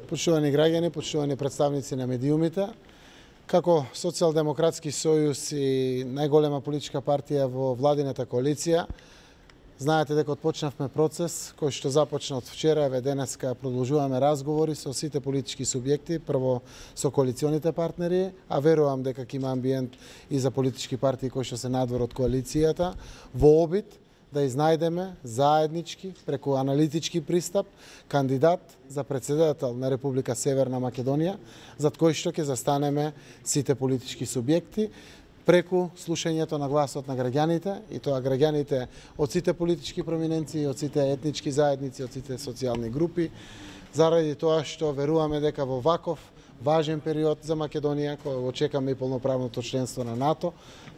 Почитувани граѓани, почитувани представници на медиумите, како Социјалдемократски сојуз и најголема политичка партија во владината коалиција, знаете дека отпочнавме процес кој што започна од вчера, еве денеска продолжуваме разговори со сите политички субјекти, прво со коалиционите партнери, а верувам дека ќе има амбиент и за политички партии кои што се надвор од коалицијата, во обид да изнајдеме заеднички, преку аналитички пристап, кандидат за председател на Република Северна Македонија, зад кој што ќе застанеме сите политички субјекти, преку слушањето на гласот на граѓаните, и тоа граѓаните од сите политички проминенции, од сите етнички заедници, од сите социјални групи, заради тоа што веруваме дека во ваков важен период за Македонија, кој го чекаме и полноправното членство на НАТО,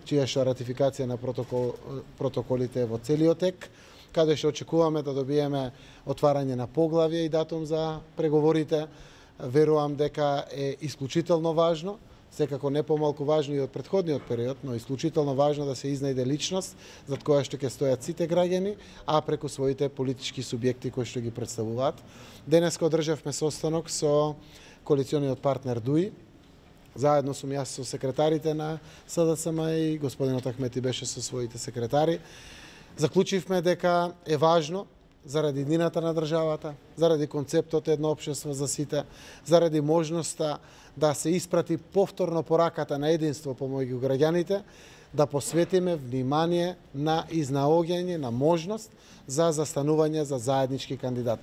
чија што ратификација на протоколите во целиот тек, каде што очекуваме да добиеме отварање на поглавје и датум за преговорите, верувам дека е исклучително важно, секако не помалку важно и од претходниот период, но исклучително важно да се изнајде личност зад која што ќе стојат сите граѓани, а преку своите политички субјекти кои што ги представуваат. Денеска одржавме состанок со коалициониот партнер ДУИ. Заедно сум јас со секретарите на СДСМ и господинот Ахмети беше со своите секретари. Заклучивме дека е важно заради иднината на државата, заради концептот едно општество за сите, заради можноста да се испрати повторно пораката на единство помеѓу граѓаните, да посветиме внимание на изнаоѓање на можност за застанување за заеднички кандидат.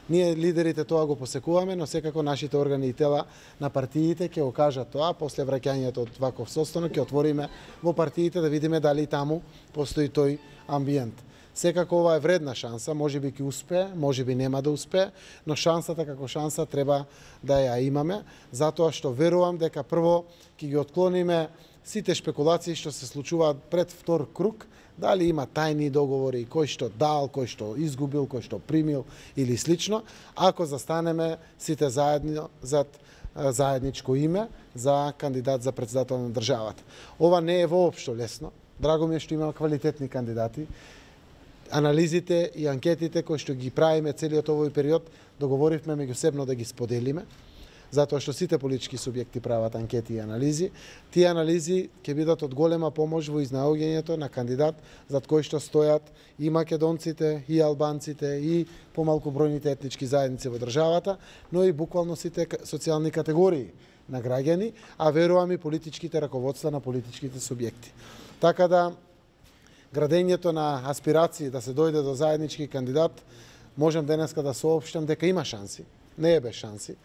Ние лидерите тоа го посекуваме, но секако нашите органи и тела на партиите ќе го кажат тоа, после враќањето од ваков состанок ќе отвориме во партиите да видиме дали таму постои тој амбиент. Секако ова е вредна шанса, можеби ќе успее, можеби нема да успее, но шансата како шанса треба да ја имаме, затоа што верувам дека прво ќе ги отклониме сите шпекулации што се случуваат пред втор круг, дали има тајни договори, кој што дал, кој што изгубил, кој што примил или слично, ако застанеме сите заедно зад заедничко име за кандидат за председател на државата. Ова не е воопшто лесно. Драго ми е што има квалитетни кандидати. Анализите и анкетите кои што ги правиме целиот овој период, договоривме меѓусебно да ги споделиме, затоа што сите политички субјекти прават анкети и анализи. Тие анализи ќе бидат од голема помош во изнаоѓањето на кандидат зад кој што стојат и македонците, и албанците, и помалку бројните етнички заедници во државата, но и буквално сите социјални категории на граѓани, а верувам и политичките раководства на политичките субјекти. Така да градењето на аспирации да се дојде до заеднички кандидат, можам денеска да соопштам дека има шанси, не е без шанси.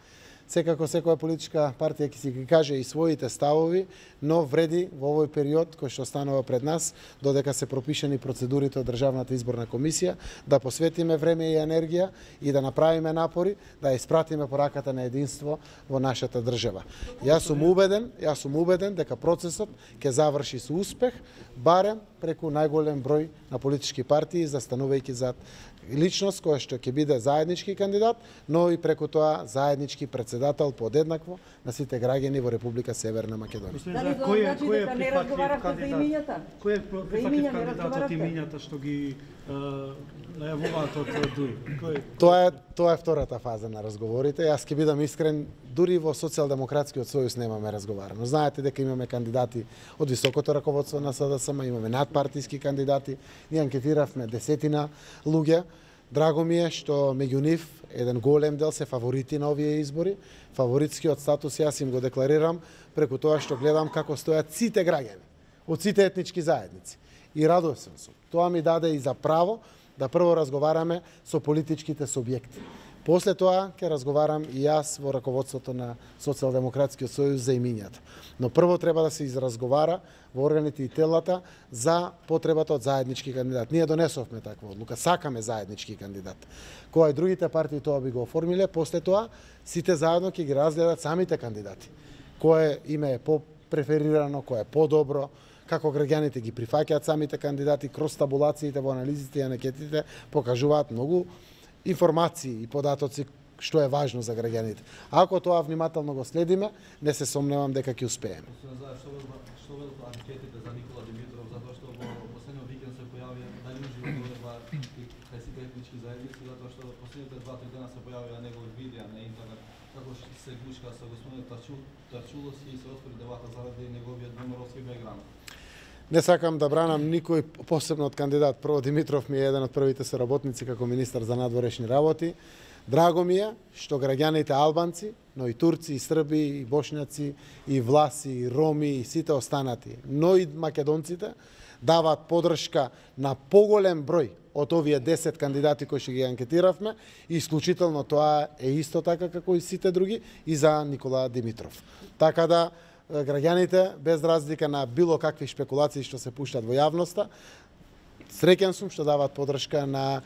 Секако секоја политичка партија ќе си ги каже и своите ставови, но вреди во овој период кој што останува пред нас, додека се пропишани процедурите од Државната изборна комисија, да посветиме време и енергија и да направиме напори да испратиме пораката на единство во нашата држава. Јас сум убеден дека процесот ќе заврши со успех, барем преку најголем број на политички партии, застанувајќи зад личност која што ќе биде заеднички кандидат, но и преку тоа заеднички председател подеднакво на сите граѓани во Република Северна Македонија. Кој е прифатлив кандидат? Кој е прифатлив кандидат од имињата што ги најавуваат од ДУИ? Тоа е втората фаза на разговорите. Јас ќе бидам искрен, дури во Социјалдемократскиот сојуз немаме разговарано. Знаете дека имаме кандидати од високото раководство на СДСМ, имаме надпартиски кандидати, ние анкетиравме десетина луѓе. Драго ми е што меѓу нив еден голем дел се фаворити на овие избори. Фаворитскиот статус јас им го декларирам преку тоа што гледам како стојат сите граѓани од сите етнички заедници. И радосен сум. Тоа ми даде и за право да прво разговараме со политичките субјекти. После тоа ќе разговарам и јас во раководството на Социјалдемократскиот сојуз за имињата. Но прво треба да се изразговара во органите и телата за потребата од заеднички кандидат. Ние донесовме таква одлука, сакаме заеднички кандидат. Кога и другите партии тоа би го оформиле, после тоа сите заедно ќе ги разгледат самите кандидати. Кое име е по-преферирано, кое е по-добро, како граѓаните ги прифаќаат самите кандидати, кроз табулациите во анализите и анкетите покажуваат многу информации и податоци што е важно за граѓаните. Ако тоа внимателно го следиме, не се сомневам дека ќе успееме. Што велат анкетите за Никола Димитров, затоа што во последниот викенд се појави дали уживо кај сите етнички заедници, затоа што последните 2-3 дена се појавија негови видеа на интернет. како се гушка со господин Тарчулос и се отвори дебата заради неговиот номеровски бекграунд. Не сакам да бранам никој посебно од кандидат. Прво, Димитров ми е еден од првите соработници како министар за надворешни работи. Драго ми е што граѓаните албанци, но и турци, и срби, и бошњаци, и власи, и роми, и сите останати, но и македонците даваат подршка на поголем број од овие 10 кандидати кои што ги анкетиравме, и исклучително тоа е исто така како и сите други и за Никола Димитров. Така да граѓаните, без разлика на било какви шпекулации што се пуштат во јавноста, среќен сум што даваат подршка на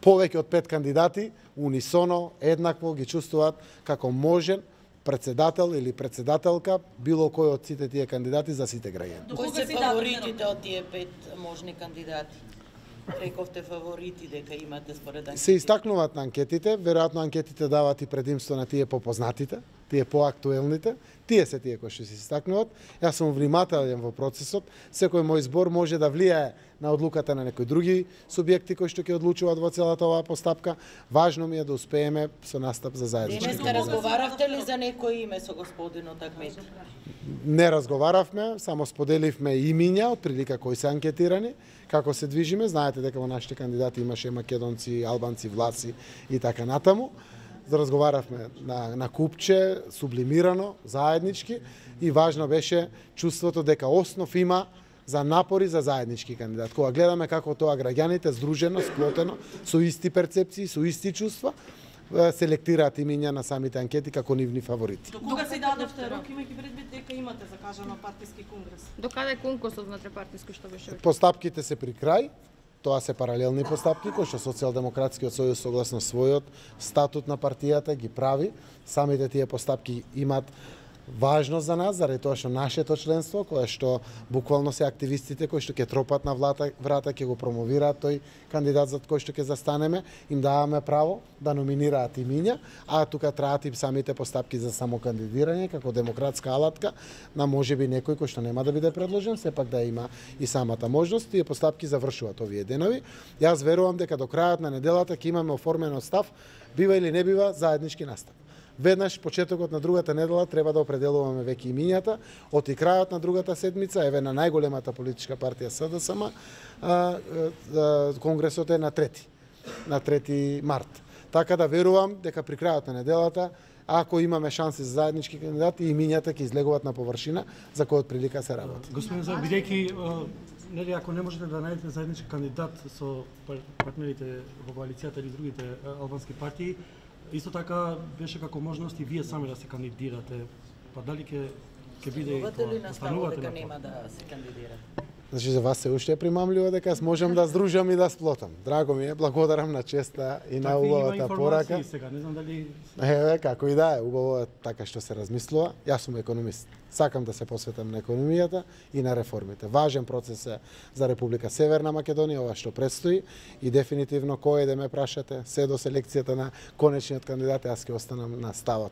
повеќе од 5 кандидати, унисоно, еднакво ги чувствуваат како можен председател или председателка било кој од сите тие кандидати за сите граѓани. Кои се фаворитите од тие 5 можни кандидати? Рековте фаворити дека имате според анкетите. Се истакнуваат на анкетите, веројатно анкетите даваат и предимство на тие попознатите, тие поактуелните, тие се тие кои што се истакнуваат. Јас сум внимателен во процесот, секој мој збор може да влијае на одлуката на некои други субјекти кои што ќе одлучуваат во целата оваа постапка. Важно ми е да успееме со настап за заеднички. Денеска разговаравте ли за некој име со господинот Ахмети? Не разговаравме, само споделивме имиња од прилика кои се анкетирани, како се движиме. Знаете дека во нашите кандидати имаше македонци, албанци, власи и така натаму. Разговаравме на купче, сублимирано, заеднички, и важно беше чувството дека основ има за напори за заеднички кандидат. Кога гледаме како тоа граѓаните здружено, сплотено, со исти перцепции, со исти чувства, селектираат имиња на самите анкети како нивни фаворити. До кога се дадовте рок, имајќи предвид дека имате закажано партиски конгрес? До каде е конкурсот внатре партиски што беше? Постапките се при крај. Тоа се паралелни постапки кои што Социјалдемократскиот сојуз согласно својот статут на партијата ги прави. Самите тие постапки имаат важност за нас, заради тоа што нашето членство, кое што буквално се активистите кои што ќе тропат на врата, ќе го промовираат тој кандидат за кој што ќе застанеме, им даваме право да номинираат имиња, а тука траат и самите постапки за самокандидирање како демократска алатка на можеби некој кој што нема да биде предложен, сепак да има и самата можност. Тие постапки завршуваат овие денови. Јас верувам дека до крајот на неделата ќе имаме оформено став, бива или не бива заеднички настап. Веднаш почетокот на другата недела треба да определуваме веќе имињата, од и крајот на другата седмица, еве на најголемата политичка партија СДСМ, конгресот е на 3 март. Така да верувам дека при крајот на неделата, ако имаме шанси за заеднички кандидати, имињата ќе излегуваат на површина за кој од прилика се работи. Господин Зар, бидејќи нели ако не можете да најдете заеднички кандидат со партнерите во коалицијата или другите албански партии, исто така беше како можност и вие сами да се кандидирате. Па дали ќе биде и тоа? Ли наставувате дека на нема да се кандидирате? Значи за вас се уште е примамливо дека можам да здружам и да сплотам. Драго ми е, благодарам на честа и на убавата порака. Сега, не знам дали Еве, како и да е, убаво е така што се размислува. Јас сум економист. Сакам да се посветам на економијата и на реформите. Важен процес е за Република Северна Македонија, ова што предстои, и дефинитивно кој да ме прашате, се до селекцијата на конечниот кандидат, јас ќе останам на ставот.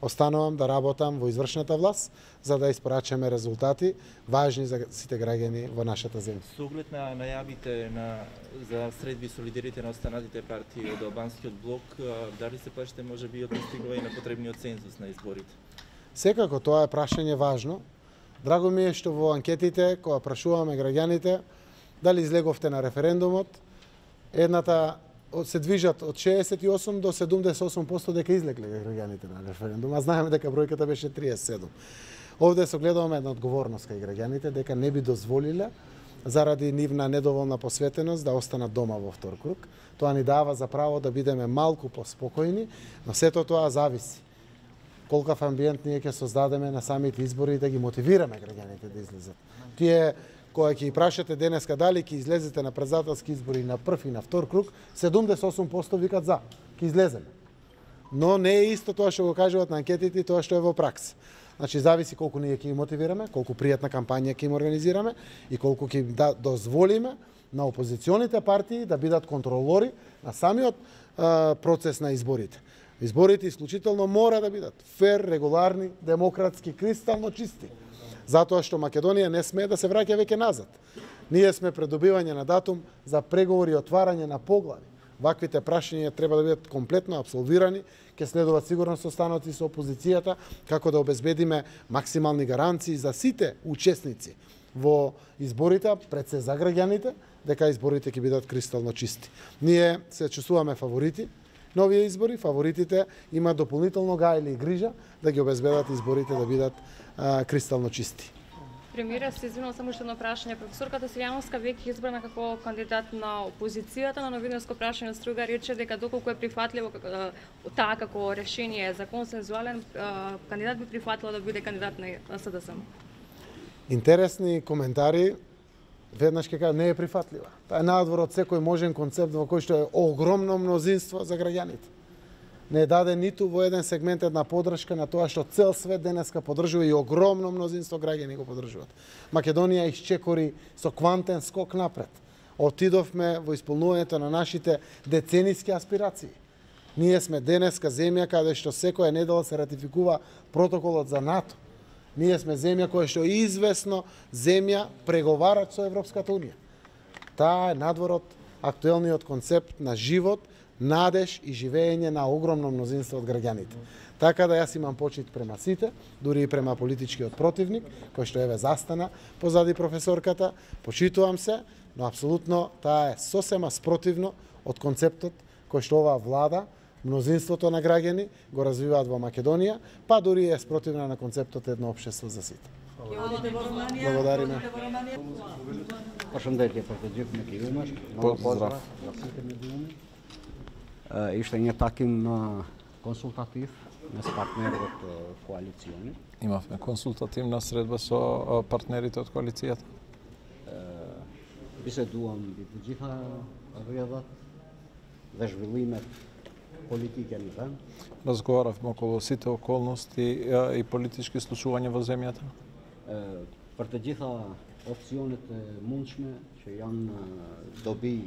Останувам да работам во извршната власт за да испорачаме резултати важни за сите граѓани во нашата земја. Со оглед на најавите за средби солидарите на останатите партии од албанскиот блок, дали се плашите можеби од постигнување на потребниот цензус на изборите? Секако тоа е прашање важно. Драго ми е што во анкетите, кога прашуваме граѓаните дали излеговте на референдумот, едната се движат од 68 до 78% дека излегле граѓаните на референдум, а знаеме дека бројката беше 37. Овде се гледаме една одговорност кај граѓаните дека не би дозволиле заради нивна недоволна посветеност да останат дома во втор круг. Тоа ни дава за право да бидеме малку поспокојни, но сето тоа зависи колкав амбиент ние ќе создадеме на самите избори и да ги мотивираме граѓаните да излезат. Тие кога ќе прашате денеска дали ќе излезете на председателски избори на прв и на втор круг, 78% викат за, ќе излеземе. Но не е исто тоа што го кажуваат на анкетите и тоа што е во пракса. Значи зависи колку ние ќе ги мотивираме, колку пријатна кампања ќе им организираме и колку ќе дозволиме на опозиционите партии да бидат контролори на самиот процес на изборите. Изборите исклучително мора да бидат фер, регуларни, демократски, кристално чисти. Затоа што Македонија не смее да се враќа веќе назад. Ние сме пред добивање на датум за преговори и отварање на поглави Ваквите прашања треба да бидат комплетно абсолвирани, ќе следуваат сигурно состаноци со опозицијата, како да обезбедиме максимални гаранции за сите учесници во изборите, пред се за граѓаните, дека изборите ќе бидат кристално чисти. Ние се чувствуваме фаворити на овие избори, фаворитите имаат дополнително гајле и грижа да ги обезбедат изборите да бидат кристално чисти. Премиера, се извинувам, само уште едно прашање. Професорката Силјановска веќе избрана како кандидат на опозицијата, на новинарско прашање од Струга рече дека доколку е прифатливо таа како решение за консензуален кандидат би прифатила да биде кандидат на СДСМ. Интересни коментари, веднаш ќе кажа, не е прифатлива. Таа е надвор од секој можен концепт во кој што е огромно мнозинство за граѓаните. Не даде ниту во еден сегмент една подршка на тоа што цел свет денеска поддржува и огромно мнозинство граѓани го поддржуваат. Македонија исчекори со квантен скок напред. Отидовме во исполнувањето на нашите децениски аспирации. Ние сме денеска земја каде што секоја недела се ратификува протоколот за НАТО. Ние сме земја која што е известно земја преговарач со Европската Унија. Таа е надвор од актуелниот концепт на живот, надеж и живење на огромно мнозинство од граѓаните. Така да јас имам почит према сите, дури и према политичкиот противник, кој што еве застана позади професорката, почитувам се, но апсолутно таа е сосема спротивно од концептот кој што оваа влада, мнозинството на граѓани го развиваат во Македонија, па дури е спротивна на концептот едно општество за сите. Благодариме. Përshëndetje për të gjithë mediumet. Pozdrav za site mediumi. Ishte një takim konsultativ mes partnerëve të koalicionit. Имавме консултативна средба со партнерите од коалицијата. Biseduam mbi të gjitha rrjedhat dhe zhvillimet politike në vend. Разговаравме околу сите околности и политички случувања во земјата. Për të gjitha opsionet e mundshme që janë dobi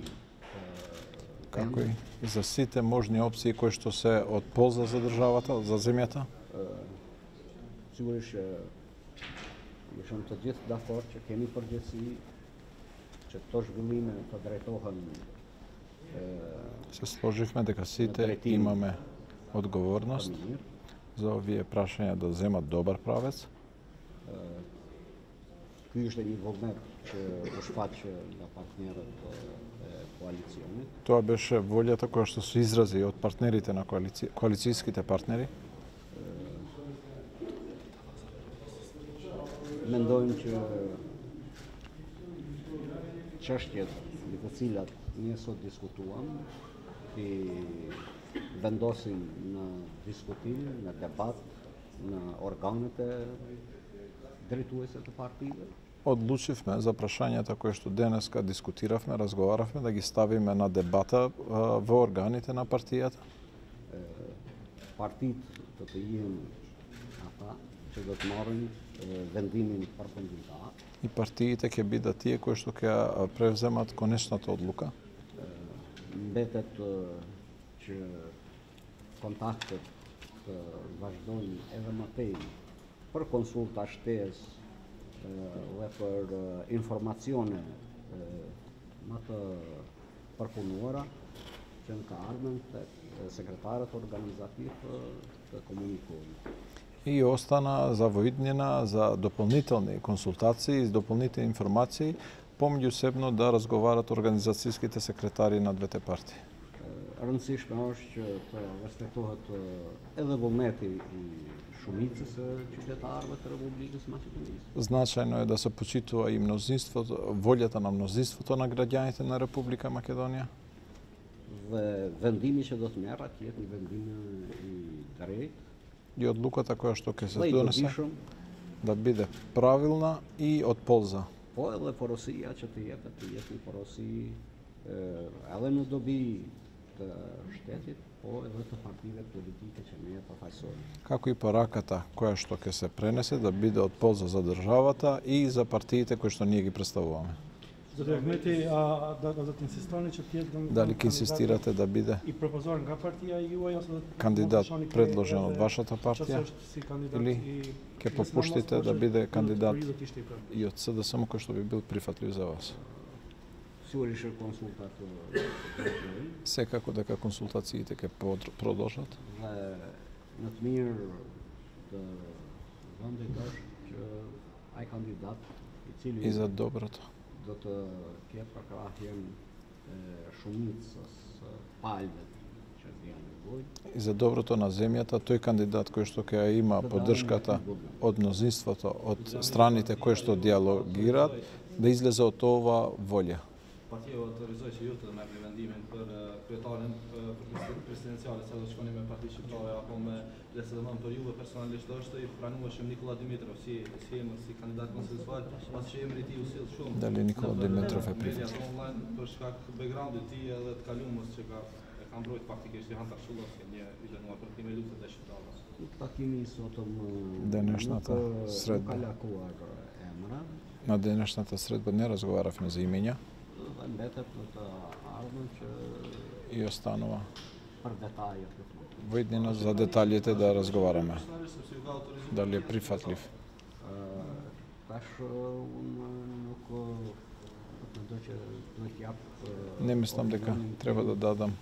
како и за сите можни опции кои што се од полза за државата, за земјата. Sigurisht jemi të gjithë dakord që kemi përgjegjësi që këto zhvillime të drejtohen. Се сложивме дека сите имаме одговорност за овие прашања да земат добар правец. Ky ishte një vullnet që u shfaq nga partnerët e koalicionit. Тоа беше волјата која што се изрази од партнерите на коалицијските партнери. Mendojmë që çështjet mbi të cilat ne sot diskutuam i vendosin në diskutim, në debat, në organet e drejtuese të partive. Одлучивме за прашањата кои што денеска дискутиравме, разговаравме да ги ставиме на дебата во органите на партијата. Partitë do të jenë ata që do të marrin vendimin përfundimtar. И партиите ќе бидат тие кои што ќе превземат конечната одлука. Mbetet që kontaktet të vazhdojnë edhe më tej për konsulta shtesë dhe për informacione më të përpunuara që në të ardhmen tek sekretarët organizativ të komunikojnë. И остана за воиднина за дополнителни консултации и дополнителни информации помеѓусебно да разговарат организацијските секретари на двете партии. Rëndësishme është që të respektohet edhe vullneti i shumicës së qytetarëve të Republikës Maqedonisë. Значајно е да се почитува и мнозинството, волјата на мнозинството на граѓаните на Република Македонија. Dhe vendimi që do të merret jetë një vendim i drejtë. И одлуката која што ќе се донесе да биде правилна и од полза. Po edhe porosia që të jetë një porosi edhe në dobi të shtetit, po edhe të partive politike që ne përfaqësojmë. Како и пораката која што ќе се пренесе да биде од полза за државата и за партиите кои што ние ги представуваме. Да инсистирате че тие дали ќе инсистирате да биде и пропозорен га партија и кандидат предложен од вашата партија или ќе попуштите да биде кандидат и од СДСМ кој што би бил прифатлив за вас? Сигурно консултат Секако дека консултациите ќе продолжат. Not meer van de dag hij kandidaat И за доброто. dat ke prakrahjen shumica s palmet që janë nevojë. И за доброто на земјата, тој кандидат кој што ќе има поддршката од мнозинството, од страните кои што диалогираат, да излезе од ова волја. Partia u autorizoi që ju të merrni vendimin për kryetarin presidenciale, sa do të shkoni me Parti Shqiptare apo me LSDM, për juve personalisht është i pranueshëm Nikola Dimitrov si kandidat konsensual, pasi që emri i tij u sill shumë. Dali Nikola Dimitrov e pritet. Online për shkak background-it të tij edhe të kalumës që ka mbrojt faktikisht Johan Tarshulovski, një i dënuar për time luftet e shqiptarëve. Takimi sotëm Денешната средба. На денешната средба не разговаравме за имења. И останува во иднина за деталите да разговараме. Дали е прифатлив. Не мислам дека треба да дадам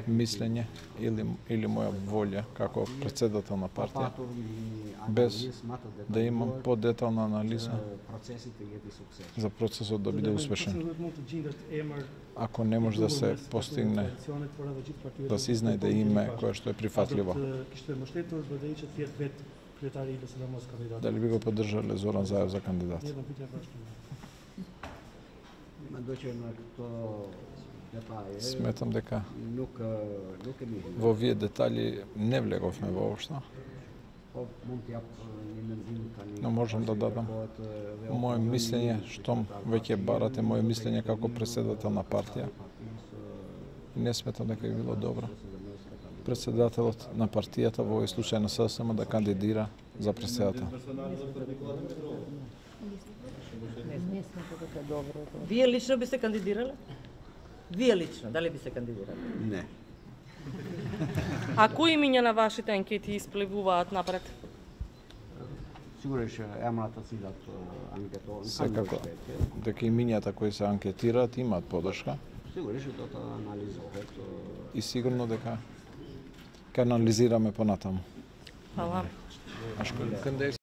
мислење или моја волја како председател на партија, без да имам подетална анализа за процесот да биде успешен. Ако не може да се постигне, да се изнајде име кое што е прифатливо. Дали би го поддржале Зоран Заев за кандидат? Сметам дека во овие детали не влеговме воопшто. Но можам да дадам моје мислење, штом веќе барате моје мислење како председател на партија. Не сметам дека би било добро председателот на партијата, во овој случај на СДСМ, да кандидира за председател. Вие лично би се кандидирале? Вие лично, дали би се кандидирале? Не. А кои имиња на вашите анкети исплевуваат напред? Сигурно ќе емрата цилат анкетон. Секако дека имињата кои се анкетираат имаат поддршка. Сигурно ќе тоа анализираат. И сигурно дека ќе анализираме понатаму. Фала.